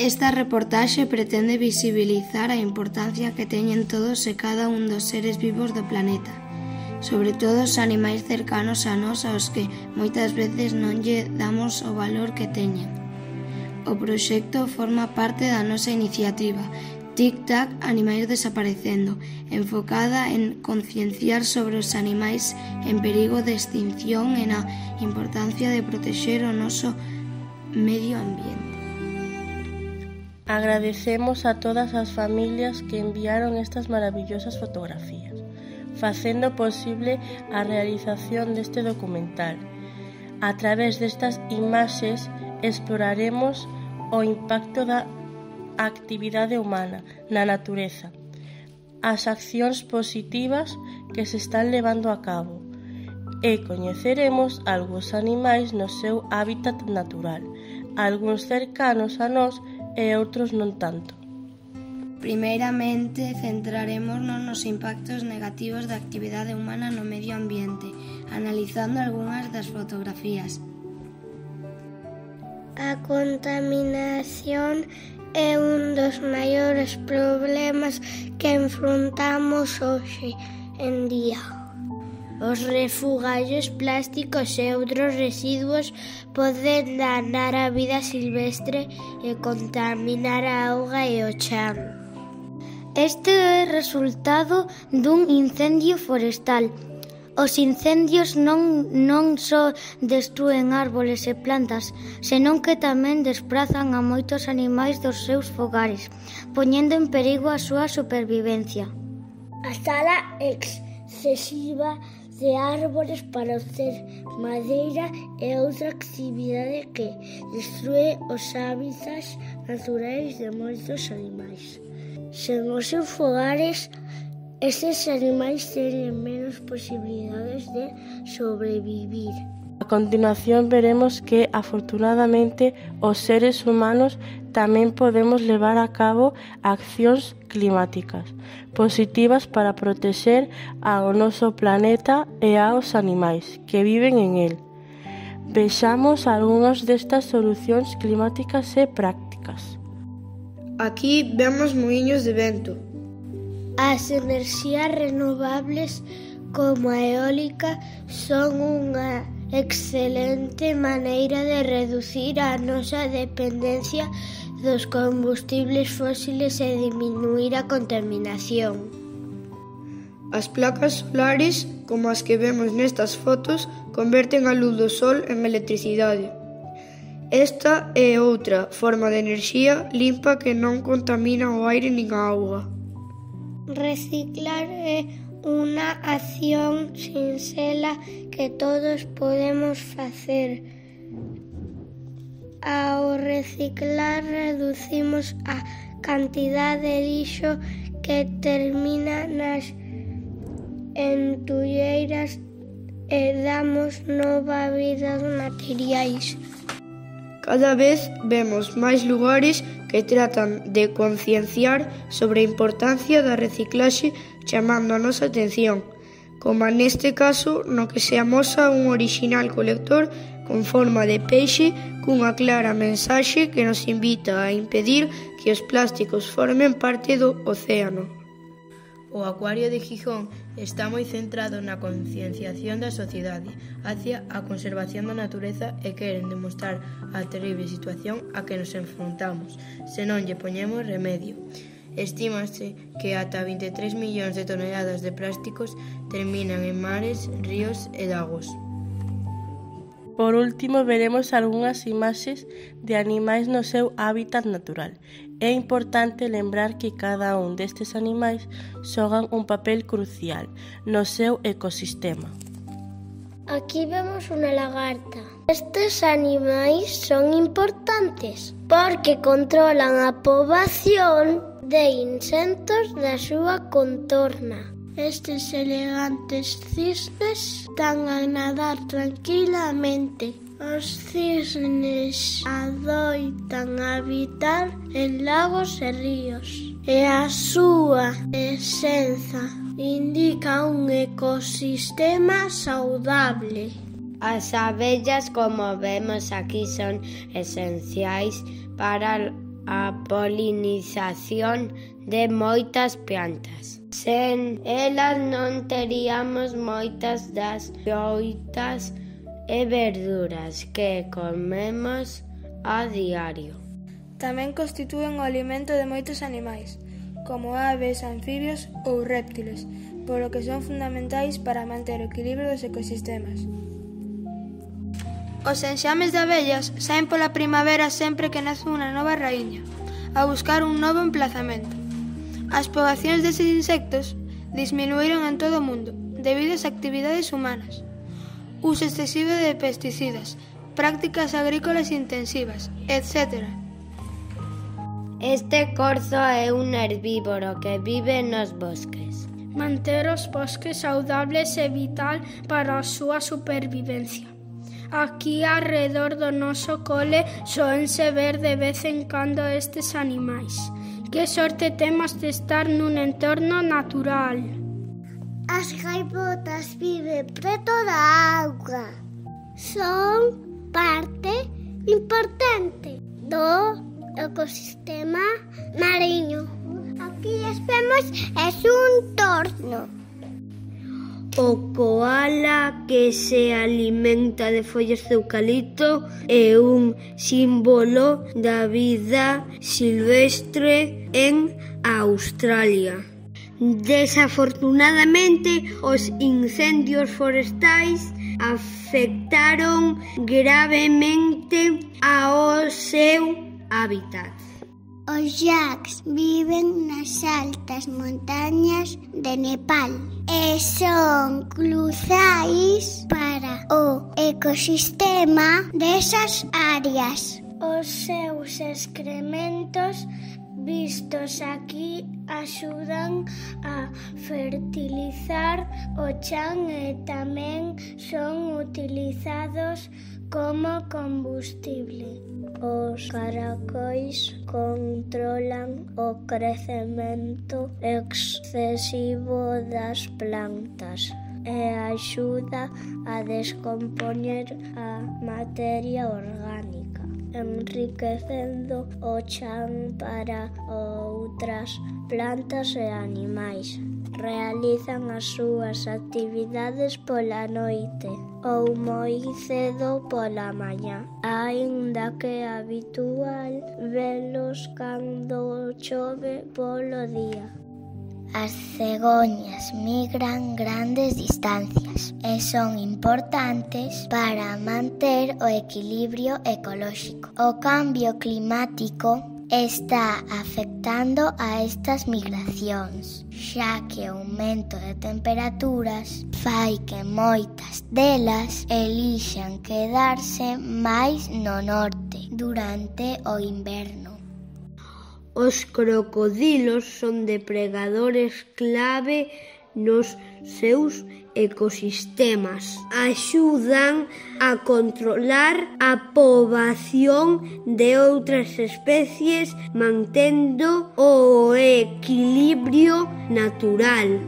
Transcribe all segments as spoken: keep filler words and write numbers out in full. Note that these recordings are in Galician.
Esta reportaxe pretende visibilizar a importancia que teñen todos e cada un dos seres vivos do planeta, sobre todo os animais cercanos a nós aos que moitas veces non lle damos o valor que teñen. O proxecto forma parte da nosa iniciativa Tic-Tac Animais Desaparecendo, enfocada en concienciar sobre os animais en perigo de extinción e na importancia de protexer o noso medio ambiente. Agradecemos a todas as familias que enviaron estas maravillosas fotografías, facendo posible a realización deste documental. A través destas imaxes exploraremos o impacto da actividade humana na natureza, as accións positivas que se están levando a cabo e coñeceremos algúns animais no seu hábitat natural, algúns cercanos a nós e outros non tanto. Primeiramente, centrarémonos nos impactos negativos da actividade humana no medio ambiente, analizando algunhas das fotografías. A contaminación é un dos maiores problemas que enfrontamos hoxe en día. Os refugallos plásticos e outros residuos poden danar a vida silvestre e contaminar a auga e o chan. Este é resultado dun incendio forestal. Os incendios non, non só destrúen árboles e plantas, senón que tamén desprazan a moitos animais dos seus fogares, poñendo en perigo a súa supervivencia. A tala excesiva de árbores para obter madeira é outra actividade que destrúe os hábitats naturais de moitos animais. Sen os seus fogares, estes animais teñen menos posibilidades de sobrevivir. A continuación veremos que, afortunadamente, os seres humanos tamén podemos levar a cabo accións climáticas positivas para protexer ao noso planeta e aos animais que viven en el. Vexamos algunhas destas solucións climáticas e prácticas. Aquí vemos muiños de vento. As enerxías renovables como a eólica son unha excelente maneira de reducir a nosa dependencia dos combustibles fósiles e diminuir a contaminación. As placas solares, como as que vemos nestas fotos, converten a luz do sol en electricidade. Esta é outra forma de enerxía limpa que non contamina o aire nin a auga. Reciclar é unha acción sinxela que todos podemos facer. Ao reciclar reducimos a cantidade de lixo que termina nas entulleiras e damos nova vida aos materiais. Cada vez vemos máis lugares que tratan de concienciar sobre a importancia da reciclaxe chamando a nosa atención, como neste caso no que se amosa un orixinal colector con forma de peixe cunha clara mensaxe que nos invita a impedir que os plásticos formen parte do océano. O Acuario de Gijón está moi centrado na concienciación da sociedade hacia a conservación da natureza e queren demostrar a terrible situación a que nos enfrontamos se non lle poñemos remedio. Estímase que ata vinte e tres millóns de toneladas de plásticos terminan en mares, ríos e lagos. Por último, veremos algunhas imaxes de animais no seu hábitat natural. É importante lembrar que cada un destes animais xogan un papel crucial no seu ecosistema. Aquí vemos unha lagarta. Estes animais son importantes porque controlan a poboación de insectos da súa contorna. Estes elegantes cisnes están a nadar tranquilamente. Os cisnes adoitan habitar en lagos e ríos e a súa presenza indica un ecosistema saudable. As abellas, como vemos aquí, son esenciais para a polinización de moitas plantas. Sen elas non teríamos moitas das froitas e verduras que comemos a diario. Tamén constitúen o alimento de moitos animais, como aves, anfibios ou réptiles, polo que son fundamentais para manter o equilibrio dos ecosistemas. Os enxames de abellas saen pola primavera sempre que nace unha nova raíña, a buscar un novo emplazamento. As poboacións deses insectos disminuíron en todo o mundo debido ás actividades humanas, uso excesivo de pesticidas, prácticas agrícolas intensivas, etcétera. Este corzo é un herbívoro que vive nos bosques. Manter os bosques saudables é vital para a súa supervivencia. Aquí, arredor do noso cole, soense ver de vez en cando estes animais. Que sorte temos de estar nun entorno natural. As gaivotas viven preto da auga. Son parte importante do ecosistema mariño. Aquí as vemos es un torno. O koala que se alimenta de follas de eucalipto é un símbolo da vida silvestre en Australia. Desafortunadamente, os incendios forestais afectaron gravemente ao seu hábitat. Os yaks viven nas altas montañas de Nepal e son cruciais para o ecosistema desas áreas. Os seus excrementos vistos aquí axudan a fertilizar o chan e tamén son utilizados como combustible. Os caracóis controlan o crecemento excesivo das plantas e axuda a descompoñer a materia orgánica, enriquecendo o chan para outras plantas e animais. Realizan as súas actividades pola noite ou moi cedo pola mañá, aínda que é habitual velos cando chove polo día. As cegoñas migran grandes distancias e son importantes para manter o equilibrio ecolóxico. O cambio climático está afectando a estas migracións, xa que o aumento de temperaturas fai que moitas delas elixan quedarse máis no norte durante o inverno. Os crocodilos son depredadores clave nos seus ecosistemas. Axudan a controlar a poboación de outras especies mantendo o equilibrio natural.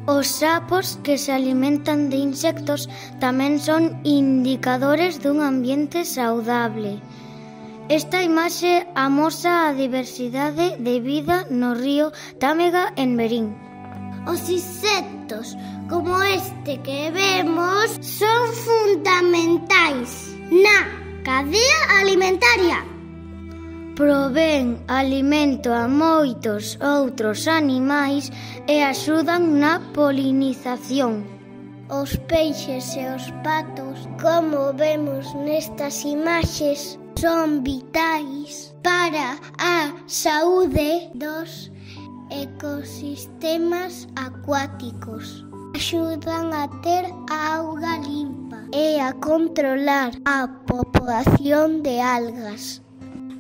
Os sapos que se alimentan de insectos tamén son indicadores dun ambiente saudable. Esta imaxe amosa a diversidade de vida no río Támega en Verín. Os insectos, como este que vemos, son fundamentais na cadea alimentaria. Provén alimento a moitos outros animais e axudan na polinización. Os peixes e os patos, como vemos nestas imaxes, son vitais para a saúde dos ecosistemas acuáticos. Axudan a ter auga limpa e a controlar a populación de algas.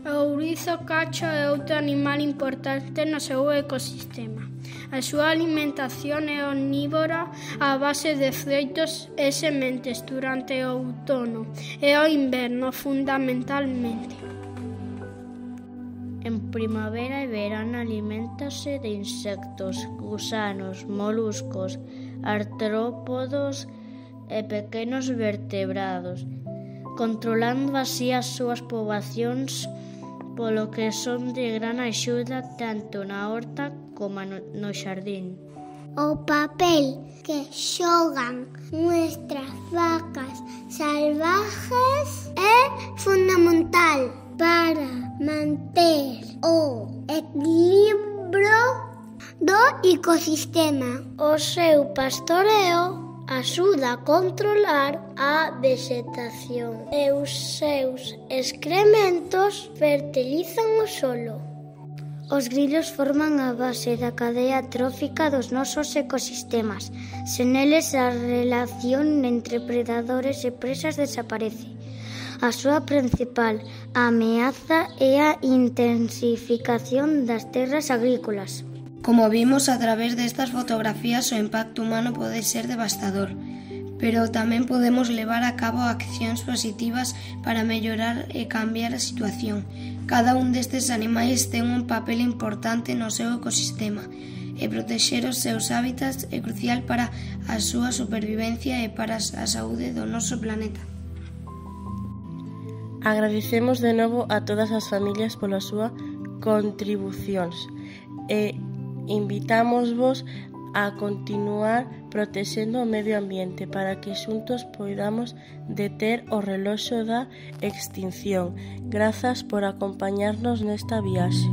O ourizo cacho é outro animal importante no seu ecosistema. A súa alimentación é omnívora a base de froitos e sementes durante o outono e o inverno fundamentalmente. En primavera e verán aliméntase de insectos, gusanos, moluscos, artrópodos e pequenos vertebrados, controlando así as súas poboacións polo que son de gran axuda tanto na horta como no, no xardín. O papel que xogan nuestras vacas salvajes é fundamental para manter o equilibrio do ecosistema. O seu pastoreo axuda a controlar a vegetación e os seus excrementos fertilizan o solo. Os grillos forman a base da cadea trófica dos nosos ecosistemas. Sen eles a relación entre predadores e presas desaparece. A súa principal ameaza é a intensificación das terras agrícolas. Como vimos a través destas fotografías, o impacto humano pode ser devastador, pero tamén podemos levar a cabo accións positivas para mellorar e cambiar a situación. Cada un destes animais ten un papel importante no seu ecosistema e protexer os seus hábitats é crucial para a súa supervivencia e para a saúde do noso planeta. Agradecemos de novo a todas as familias polas súas contribucións e invitámosvos a continuar protexendo o medio ambiente para que xuntos poidamos deter o reloxo da extinción. Grazas por acompañarnos nesta viaxe.